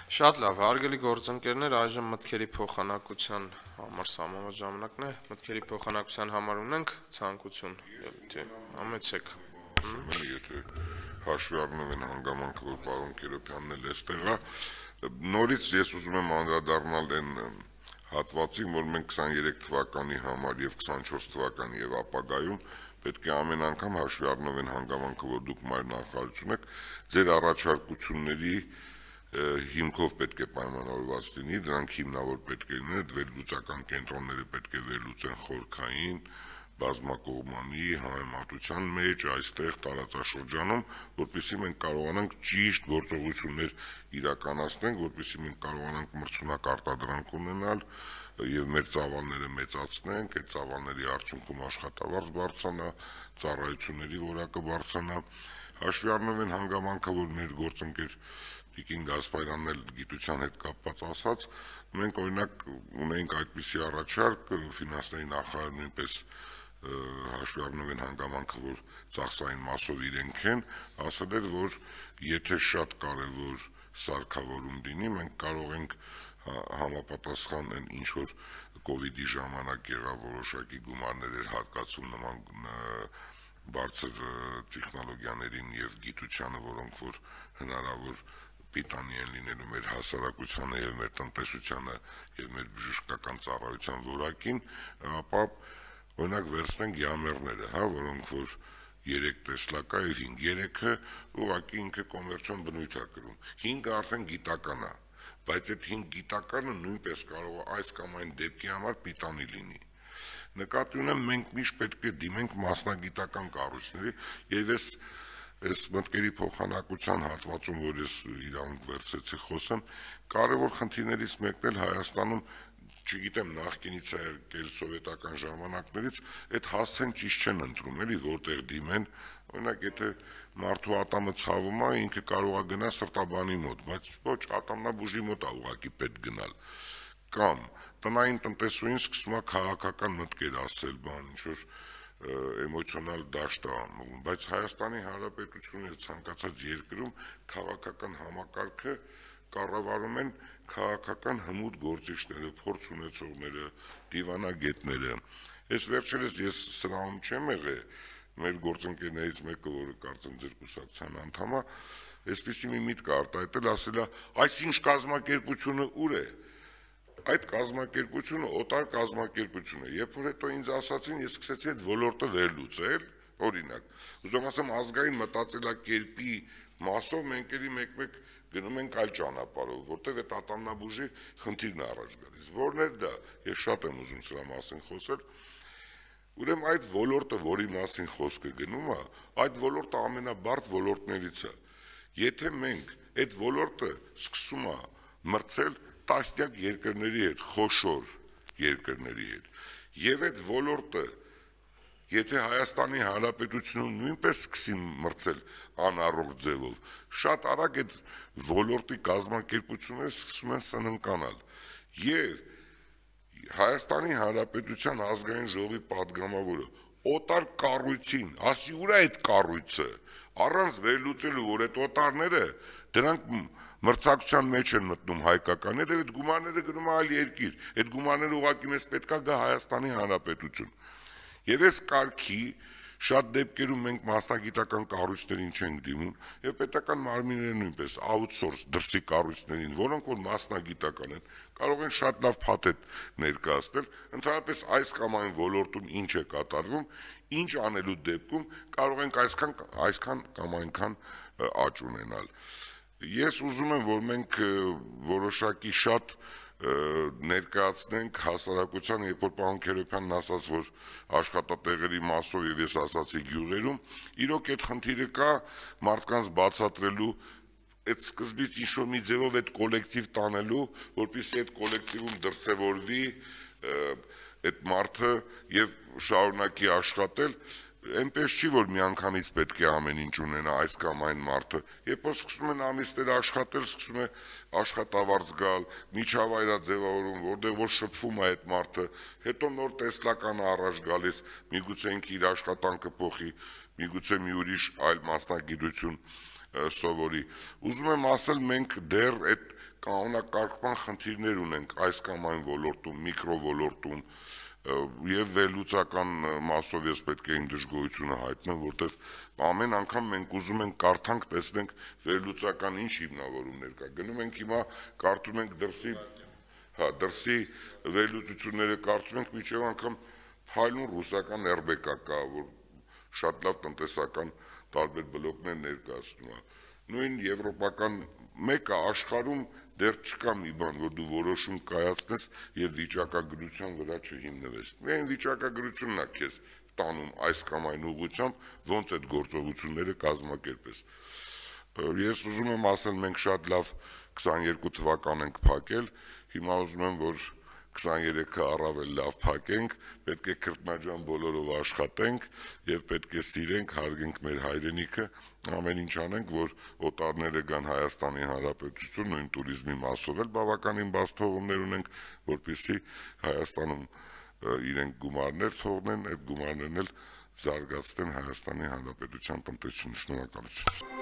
Շատ լավ, հարգելի գործընկերներ, այժմ մտքերի փոխանակության համար սահմանված ժամանակն է, մտքերի փոխանակության համար ունենք ցանկություն, համեցեք։ Եթե հաշվի առնեմ այն հանգամանքը, որ պարոն Կերոբյանն էլ էստեղ է, նորից ես ուզում եմ անդրադառնալ այն հատվածին, որ մենք 23 թվականի համար եւ 24 թվականի եւ ապագայում պետք է ամեն անգամ հաշվի առնով այն հանգամանքը, որ դուք նախարարություն եք, ձեր առաջարկությունների հիմքով պետք է պայմանավորված լինի, դրանք հիմնավոր պետք է լինեն, վերլուծական կենտրոնները պետք է վերլուծեն խորքային, բազմակողմանի, համեմատության մեջ, այստեղ տարածաշրջանում, որպեսզի մենք կարողանանք ճիշտ գործողություններ իրականացնենք, որպեսզի մենք կարողանանք մրցունակ արտադրանք ունենալ եւ մեր ծավալները մեծացնենք, այդ ծավալների արդյունքում աշխատավարձ բարձրանա, ծառայությունների որակը բարձրանա, հաշվի առնելով այն հանգամանքը, որ մեր գործընկեր Տիկին Գասպարյանն էլ գիտության հետ կապված ասաց, մենք օրինակ ունենք այդպիսի առաջարկ, ֆինանսների նախարարը նույնպես հաշվի առնելով այն հանգամանքը, որ ծախսային մասով իրենք են, ասել էր, որ եթե շատ կարևոր սարքավորում լինի, մենք կարող ենք համապատասխան այն ինչ որ կովիդի ժամանակ եղավ որոշակի գումարներ էր հատկացում նման բարձր տեխնոլոգիաներին եւ գիտությանը, որոնք որ հնարավոր պիտանի են լինելու մեր հասարակությանը եւ մեր տնտեսությանը եւ մեր բժշկական ծառայության որակին, ապա օրինակ վերցնենք յամերները, որոնք որ 3 տեսլակա եւ 5-3-ը ուղղակի ինքը կոմերցիոն բնույթ է կրում։ 5-ը արդեն գիտական է, բայց այդ 5 գիտականը նույնպես կարող է այս կամ այն դեպքի համար պիտանի լինի։ Նկատի ունեմ մենք միշտ պետք է դիմենք մասնագիտական կառույցների եւ այս մտքերի փոխանակության հատվածում, որ ես իրավունք վերցեցի խոսեմ, կարևոր խնդիրներից մեկն էլ Հայաստանում, չգիտեմ, նախկինից է եկել սովետական ժամանակներից, այդ հասցեն ճիշտ չեն ընտրում, էլի որտեղ դիմեն, օրինակ եթե մարդու ատամը ցավում է, ինքը կարող է գնալ սրտաբանի մոտ, բայց ոչ ատամնաբուժի մոտ է ուղղակի պետք գնալ։ Կամ տնային տնտեսուհին սկսում է քաղաքական մտքեր ասել, բան ինչ որ էմոցիոնալ դաշտ է անում, բայց Հայաստանի Հանրապետությունը ցանկացած երկրում քաղաքական համակարգը կառավարում են քաղաքական հմուտ գործիչները, փորձ ունեցողները, դիվանագետները։ Այս վերջերս ես սրահում չեմ եղել, մեր գործընկերներից մեկը, որը կարծեմ ձեր կուսակցության անդամ է, այսպիսի մի միտք արտահայտել, ասել է, այսինչ կազմակերպությունը ուր է։ Այդ կազմակերպությունը օտար կազմակերպություն է։ Երբ որ հետո ինձ ասացին, ես սկսեցի այդ ոլորտը վերլուծել, օրինակ, ուզում ասեմ ազգային մտածելակերպի մասով մենք էլի մեկ-մեկ գնում ենք այլ ճանապարհով, որտեղ այդ ատամնաբուժի խնդիրն է առաջ գալիս։ Որն է դա, ես շատ եմ ուզում սրա մասին խոսել։ Ուրեմն այդ ոլորտը, որի մասին խոսքը գնում է, այդ ոլորտը ամենաբարդ ոլորտներից է։ Եթե մենք այդ ոլորտը սկսում է մրցել տասնյակ երկրների հետ, խոշոր երկրների հետ, եւ այդ ոլորտը եթե Հայաստանի Հանրապետությունում նույնպես սկսի մրցել անառողջ ձևով, շատ արագ այդ ոլորտի կազմակերպությունները սկսում են սննկանալ։ Եվ Հայաստանի Հանրապետության ազգային ժողովի падգամավորը օտար կառույցին, ասի ուր է այդ կառույցը, առանց վերլուծելու, որ այդ օտարները դրանք մրցակցության մեջ են մտնում հայկականները, այդ գումարները գնում այլ երկիր, այդ գումարները ուղղակի մեզ պետքա գա Հայաստանի Հանրապետություն։ Եվ այս կարգի շատ դեպքերում մենք մասնագիտական կառույցներին չենք դիմում եւ պետական մարմինները նույնպես outsource դրսի կառույցներին, որոնք որ մասնագիտական են, կարող են շատ լավ փաթեթ ներկայացնել, ընդհանրապես այս կամ այն ոլորտում ինչ է կատարվում, ինչ անելու դեպքում կարող ենք այսքան կամ այնքան աճ ունենալ։ Ես ուզում եմ, որ մենք որոշակի շատ ներկայացնենք հասարակությանը, երբ որ պարոն Քերոբյանն ասաց, որ աշխատատեղերի մասով եւ ես ասացի գյուղերում, իրոք այդ խնդիրը կա մարդկանց բացատրելու, այդ սկզբից ինչ-որ մի ձևով այդ կոլեկտիվ տանելու, որպեսզի այդ կոլեկտիվում դրսևորվի այդ մարդը եւ շարունակի աշխատել, այնպես չի, որ միանգամից պետք է ամեն ինչ ունենա այս կամ այն մարդը, երբ որ սկսում են ամիսներ աշխատել, սկսում է աշխատավարձ գալ, միջավայր է ձևավորում, որտեղ որ շփվում է այդ մարդը, հետո նոր տեսլական է առաջ գալիս, միգուցե ինքը իր աշխատանքը փոխի, միգուցե մի ուրիշ այլ մասնագիտություն սովորի։ Ուզում եմ ասել, մենք դեռ այդ կանոնակարգման խնդիրներ ունենք այս կամ այն ոլորտում, միկրովոլորտում, եւ վերլուծական մասով ես պետք է իմ դժգոհությունը հայտնեմ, որտեվ ամեն անգամ մենք ուզում ենք կարդանք, տեսնենք վերլուծական ինչ հիմնավորումներ կա։ Գնում ենք հիմա կարդում ենք դրսի վերլուծությունները կարդում ենք, միջև անգամ հայլուն ռուսական RBK կա, որ շատ լավ տնտեսական տարբեր բլոկներ ներկայացնում է։ Նույն եվրոպական մեկը աշխարհում դեռ չկա մի բան, որ դու որոշում կայացնես եւ վիճակագրության վրա չհիմնվես։ Միայն վիճակագրությունն է քեզ տանում այս կամ այն ուղղությամբ, ոնց այդ գործողությունները կազմակերպես։ Ես ուզում եմ ասել, մենք շատ լավ 22 թվական ենք փակել, հիմա ուզում եմ, որ 23-ը առավել լավ փակենք, պետք է քրտնաջան բոլորով աշխատենք եւ պետք է սիրենք, հարգենք մեր հայրենիքը, ամեն ինչ անենք, որ օտարները գան Հայաստանի Հանրապետություն, նույն туриզմի մասով էլ բավականին բաց թողումներ ունենք, որպեսզի Հայաստանում իրենք գումարներ թողնեն, այդ գումարներն էլ զարգացնեն Հայաստանի Հանրապետության տնտեսությունը։ Շնորհակալություն։